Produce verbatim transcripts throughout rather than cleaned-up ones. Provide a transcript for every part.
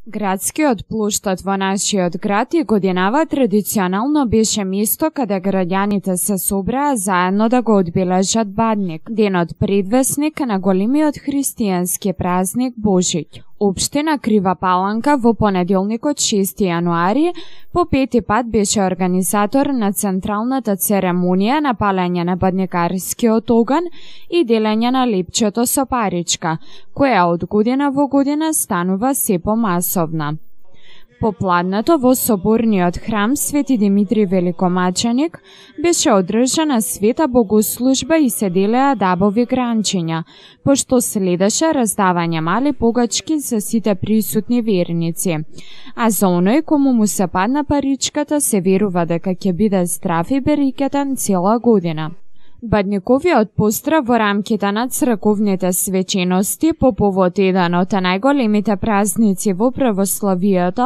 Градскиот плоштад во нашиот град и годинава традиционално беше место каде граѓаните се собраа заедно да го одбележат Бадник, денот предвесник на големиот христијански празник Божиќ. Општина Крива Паланка во понеделникот шести јануари по пети пат беше организатор на централната церемонија на палење на бадникарскиот оган и делење на лепчето со паричка, која од година во година станува се помасовна. Попладнето во соборниот храм Свети Димитри Великомаченик беше одржана света богослужба и се делеа дабови гранчиња, пошто следеше раздавање мали погачки за сите присутни верници. А за оној кому му се падна паричката се верува дека ќе биде здрав и берекетен цела година. Бадниковиот поздрав во рамките на црковните свечености по повод еден од најголемите празници во православието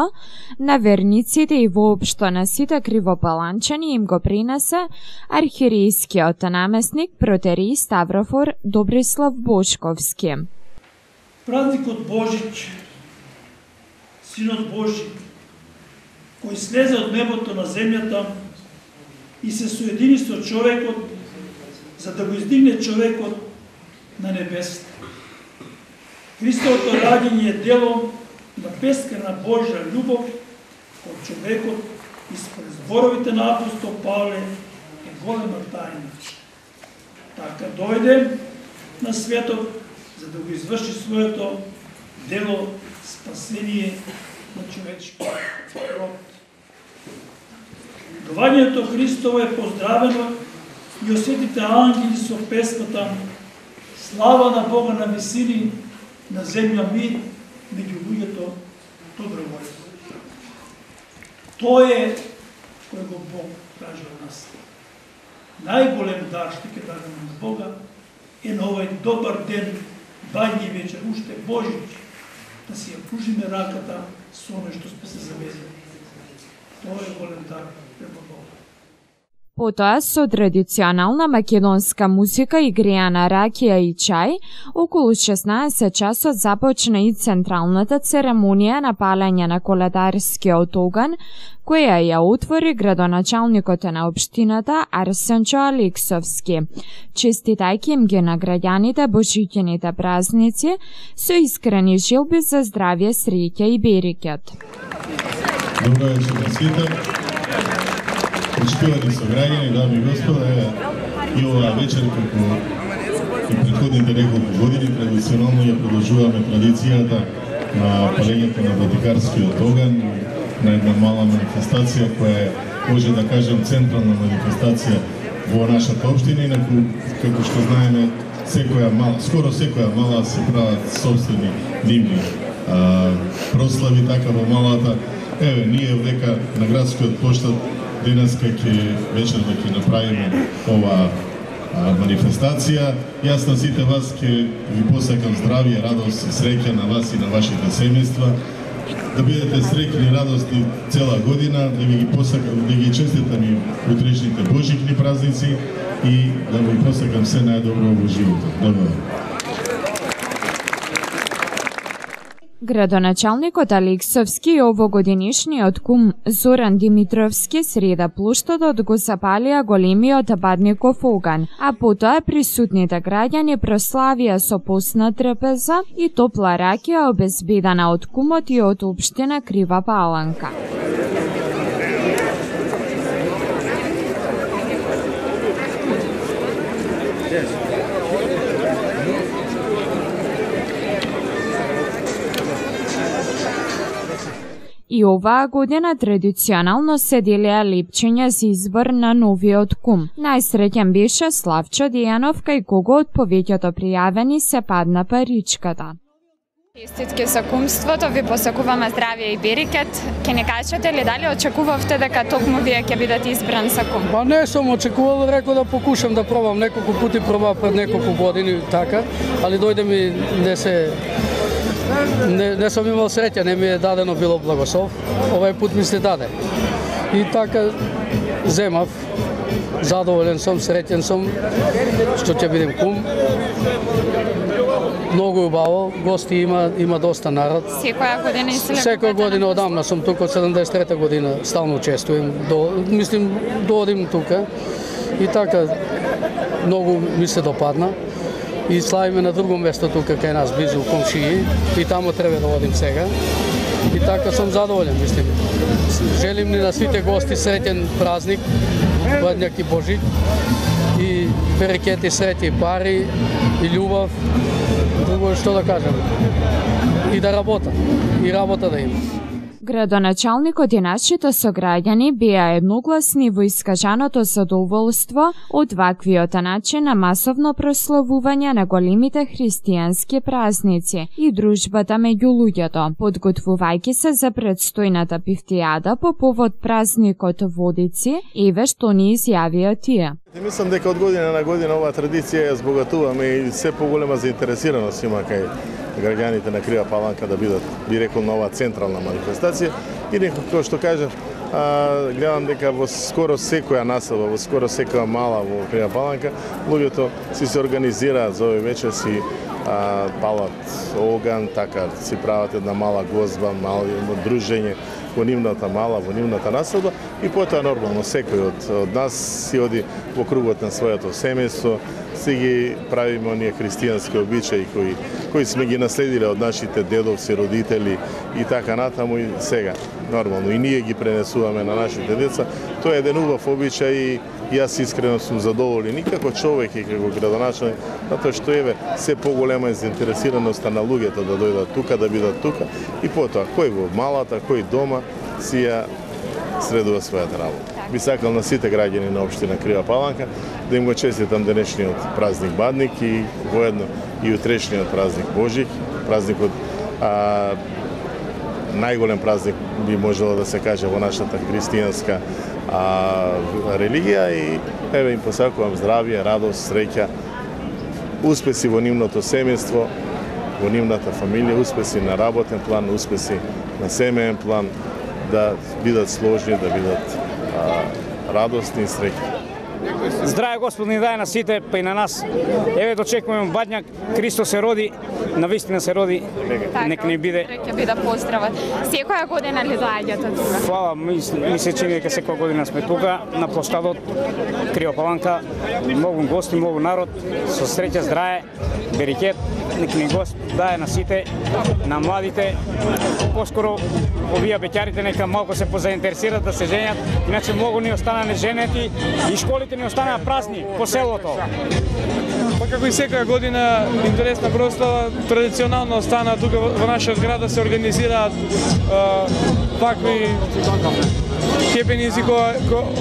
на верниците и воопшто на сите кривопаланчани им го принесе архиерејскиот наместник протереј Ставрофор Добрислав Бошковски. Празникот Божиќ, Синот Божи, кој слезе од небото на земјата и се соедини со човекот, за да го издигне човекот на небесите. Христовото раѓање е дело на бескрена Божја љубов кон човекот и според зборовите на апостол Павле е голема тајна. Така дојде на светот за да го изврши своето дело спасение на човечкиот род. Доаѓањето Христово е поздравено и осетите ангели со песната слава на Бога на висини, на земја мир, меѓу луѓето добро воља. Тоа е кој го Бог тражи од нас. Најголем дар што ќе дадеме на Бога е на овој добар ден, бањи вечер, уште Божиќ, да си ја пружиме раката со оној што сме се завезли. Тоа е голем дар према Бога. Потоа со традиционална македонска музика и греана ракија и чај, околу шеснаесет часот започна и централната церемонија на палење на коледарскиот оган, која ја отвори градоначалникот на општината Арсенчо Алексовски, честитајќи им ги на граѓаните божиќините празници со искрени желби за здравје, среќа и берекет. Добро вечер на сите. Почитувани сограѓани, дами и господа, и оваа вечер, како и претходните неколку години, традиционално ја продолжуваме традицијата на палењето на бадникарскиот оган, на една мала манифестација која е, може да кажем, централна манифестација во нашата општина, инаку, како што знаеме, секоја мала, скоро секоја мала се прават собствени димни а, прослави, така во малата. Еве, ние века на градскиот плоштад денеска ќе вечер да ќе направиме ова а, манифестација. Јас на сите вас ќе ви посакам здравје, радост и среќа на вас и на вашите семејства. Да бидете среќни, радосни цела година, да ви ги посакам, да ги честитам и утрешните божиќни празници и да ви посакам се најдобро во животот. Добро. Градоначалникот Алексовски и овогодинишниот кум Зоран Димитровски среда плоштадот го запалија големиот Бадников оган, а потоа присутните граѓани прославија со постна трпеза и топла ракија обезбедена од кумот и од општина Крива Паланка. И оваа година традиционално се делеа лепчиња за избор на новиот кум. Најсреќен беше Славчо Дејанов, кај кого од повеќето пријавени се падна паричката. Честитки за кумството, ви посакуваме здравје и берекет. Ке не кажете ли дали очекувавте дека токму вие ќе бидете избран за кум? Па не сум очекувал, рекол да покушам да пробам, неколку пати пробав пред неколку години така, али дојде ми не се Не, не сум имал среќа, не ми е дадено било благослов. Овај пут ми се даде. И така земав. Задоволен сум, среќен сум што ќе бидем кум. многу убаво, гости има, има доста народ. Секоја година и Секоја година одамна сум тука, од седумдесет и трета година стално учествувам. До, мислим, доодим тука и така многу ми се допадна. И славиме на друго место тука кај нас, близу комшии, и тамо треба да одим сега. И така сум задоволен, мислим. Желим ни на сите гости среќен празник, Бадњак и Божик, и берекети, среќи, пари и љубов, друго што да кажем. И да работат, и работа да има. Градоначалникот и нашите сограѓани беа едногласни во искажаното задоволство од ваквиот начин на масовно прославување на големите христијански празници и дружбата меѓу луѓето, подготвувајќи се за предстојната пифтијада по повод празникот Водици, еве што ни изјавија тие. Мислам дека од година на година оваа традиција ја збогатуваме и се поголема заинтересираност има кај граѓаните на Крива Паланка да бидат, би рекол, на оваа централна манифестација. И некако што кажав, а, гледам дека во скоро секоја населба, во скоро секоја мала во Крива Паланка, луѓето си се организираат за овој вечер, си а, палат оган, така си прават една мала гозба, мало дружење во нивната мала, во нивната населба и потоа нормално секој од, од нас си оди во кругот на своето семејство, си ги правиме оние христијански обичаи кои кои сме ги наследиле од нашите дедовци, родители и така натаму и сега нормално и ние ги пренесуваме на нашите деца. Тоа е еден убав обичај и јас искрено сум задоволен и како човек и како градоначалник, затоа што еве се поголема е заинтересираноста на луѓето да дојдат тука, да бидат тука и потоа кој во малата, кој дома си ја средува својата работа. Би сакал на сите граѓани на општина Крива Паланка да им го честитам денешниот празник Бадник и воедно и утрешниот празник Божик, празникот а, најголем празник би можело да се каже во нашата христијанска а, религија и еве им посакувам здравје, радост, среќа, успеси во нивното семејство, во нивната фамилија, успеси на работен план, успеси на семеен план, да бидат сложни, да бидат а, радостни и среќни. Здраве Господ ни даде на сите, па и на нас. Еве дочекуваме Бадњак, Христос се роди, навистина се роди, нека ни биде. Ќе биде поздравот. Секоја година ли доаѓате тука? Фала, ми, ми се чини дека секоја година сме тука на площадот Крива Паланка, многу гости, многу народ, со среќа, здраве, берекет, нека ни Господ даде на сите, на младите. Поскоро овие беќарите нека малку се позаинтересират да се женат, иначе многу ни остана неженети и школите ни останаа празни по селото. Па како и секоја година интересна прослава, традиционално остана тука во нашиот град да се организираат вакви хепенизи,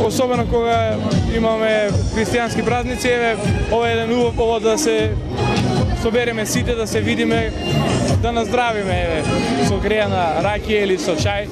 особено кога имаме христијански празници. Еве, ова е еден убав повод да се собереме сите, да се видиме, да наздравиме, еве, со грејана ракија или со чај.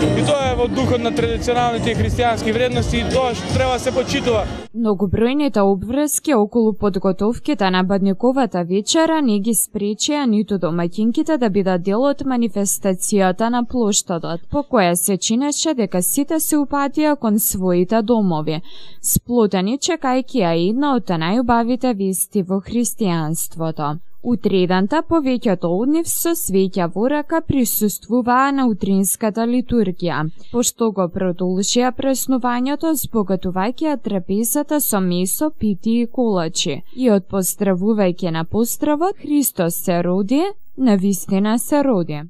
И тоа е во духот на традиционалните христијански вредности и тоа што треба да се почитува. Многобројните обврски околу подготовките на Бадниковата вечера не ги спречија ниту домаќинките да бидат дел од манифестацијата на плоштадот, по која се чинеше дека сите се упатија кон своите домови, сплотени чекајќи ја една од најубавите вести во христијанството. Утредента повеќето од нив со свеќа во рака присуствуваа на утринската литургија, пошто го продолжија празнувањето збогатувајќи ја трапезата со месо, пити и колачи. И од поздравувајќи на поздравот, Христос се роди, навистина се роди.